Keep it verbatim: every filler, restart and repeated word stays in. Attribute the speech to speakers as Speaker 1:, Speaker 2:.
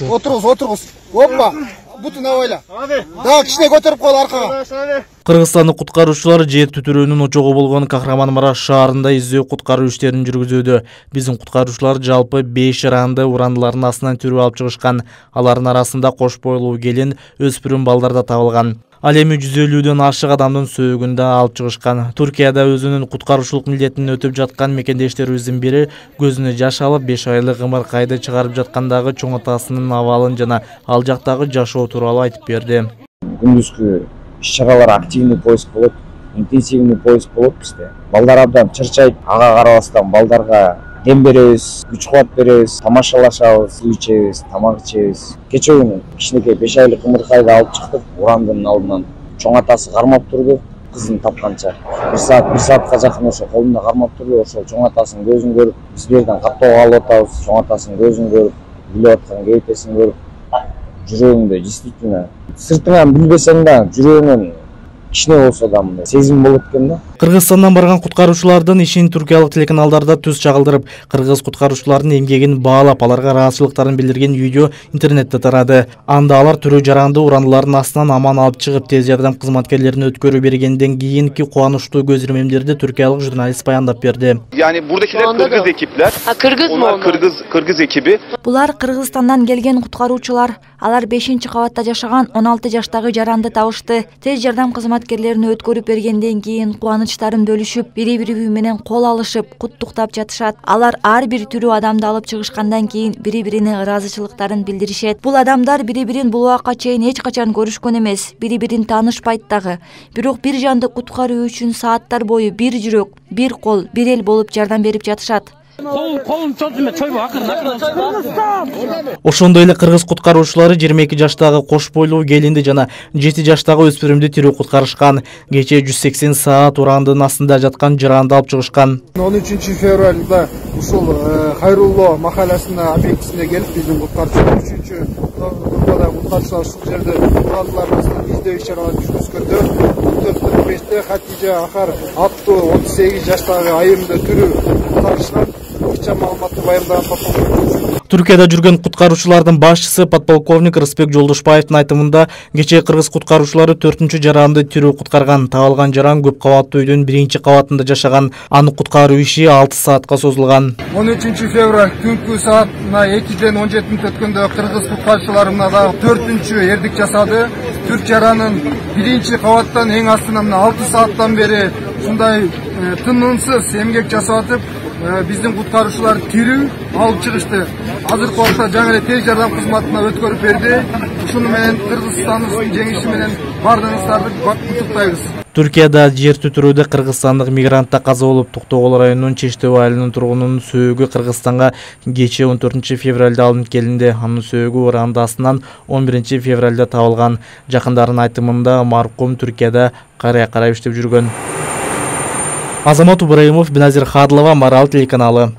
Speaker 1: Отырыңыз, отырыңыз. Оппа, бутун авайла. Да, кичине көтөрүп кой аркага.
Speaker 2: Кыргызстандык куткаруучулар жер түтүрөөнүн очогу болгон Кахраманмараш шаарында издөө куткаруу иштерин жүргүзүүдө. Биздин куткаруучулар жалпы беш жаранды урандылардын астынан түрүп алып чыгышкан. Алардын арасында кош бойлуу келин, өспүрүм балдар да табылган. Ал эми жүз элүүдөн ашык адамдын сөөгүн да алып чыгышкан. Туркияда өзүнүн куткаруучулук милдетин өтүп жаткан мекендештерибиздин бири көзүнө жаш алып беш айлык ымыркайды чыгарып жаткандагы чоң атасынын абалын жана ал жактагы жашоо тууралуу айтып берди.
Speaker 3: Күндүзгү иш-чаралар активный поиск болот, интенсивный поиск болот бизде. Балдар абдан чырчайт, ага карабастан балдарга дем беребиз, күч кубат беребиз, тамашалашабыз, суу ичебиз, тамак ичебиз. Кече күнү кичинекей беш айлык ымыркайды алып чыктык, урандын алдынан. Чоң атасы кармап турду, кызын тапканча. бир саат, бир саатка жакын ошо колунда кармап турду, ошол чоң атасынын көзүн көрүп, биз бу жерден каттоого алып атабыз. Чоң атасынын көзүн көрүп, билип аткан кейпесин көрүп, жүрөгүңдө действительно сыртыңан билбесең да жүрөгүңөн кичине болсо да мындай сезим болот экен да.
Speaker 2: Кыргызстандан барган куткаруучулардын ишин туркиялык телеканалдарда түз чагылдырып, кыргыз куткаруучулардын эмгегин баалап, аларга ыраазычылыктарын билдирген видео интернетте тарады. Анда алар түрүү жаранды урандылардын астынан аман алып чыгып, тез жардам кызматкерлерине өткөрүү бергенден кийинки кубанычтуу көз ирмемдерди туркиялык журналист баяндап берди.
Speaker 4: Yani buradakiler Kırgız ekipler.
Speaker 5: Ha, Kırgız mı
Speaker 4: onlar?
Speaker 5: onlar?
Speaker 4: Kırgız Kırgız ekibi.
Speaker 6: Булар Кыргызстандан келген куткаруучулар. Алар бешинчи кабатта жашаган он алты жаштагы жаранды табышты. Тез жардам кызматкерлерине өткөрүп бергенден кийин кубанычтарын бөлүшүп, бири-бири менен кол алышып, куттуктап жатышат. Алар ар бир түрүү адамды алып чыгышкандан кийин бири-бирине ыраазычылыктарын билдиришет. Бул адамдар бири-бирин бул убакка чейин эч качан көрүшкөн эмес, бири-бирин таанышпайт дагы. Бирок бир жанды куткаруу үчүн сааттар бою бир жүрөк, бир кол, бир эл болуп жардам берип жатышат.
Speaker 2: Ошондой эле кыргыз куткаруучулары жыйырма эки жаштагы кош бойлуу келинди жана жети жаштагы өспүрүмдү тирүү куткарышкан. Кечээ жүз сексен саат урандын астында жаткан жаранды алып чыгышкан.
Speaker 1: он үчүнчү февралда ушул Хайрулло махаласына объектисине келип биздин куткаруучулар үчүнчү группада куткаруучулар ушул жерде урандылардын астынан издөө иш-чараларын жүргүзгөндө төрт кырк беште Хатижа Ахар аттуу отуз сегиз жаштагы айымды түрүү куткарышкан.
Speaker 2: Түркияда жүргөн куткаруучулардын башчысы подполковник Рысбек Жолдошбаевдин айтымында кечээ кыргыз куткаруучулары төртүнчү жаранды тирүү куткарган. Табылган жаран көп кабаттуу үйдүн биринчи кабатында жашаган. Аны куткаруу иши алты саатка созулган.
Speaker 1: он үчүнчү февраль түнкү саатына экиден он жетини өткөндө кыргыз куткаруучулары мына дагы төртүнчү эрдик жасады. Түрк жаранын биринчи кабаттан эң астынан алты сааттан бери ушундай тынымсыз эмгек жасап атып, биздин куткаруучулар тирүү алып чыгышты. Азыркы убакта жаңы эле тез жардам кызматына өткөрүп берди. Ушуну менен Кыргызстандын жеңиши менен бардыгыңыздарды куттуктайбыз.
Speaker 2: Түркияда жер түтүрүүдө кыргызстандык мигрантта каза болуп, Токтогул районунун Чештебай айылынын тургунунун сөөгү Кыргызстанга кечээ он төртүнчү февралда алынып келинди. Анын сөөгү уранды астынан он биринчи февралда табылган. Жакындарынын айтымында маркум Түркияда карыя карап иштеп жүргөн. Азамат Ибраимов, Беназир Хадлова, Марал телеканалы.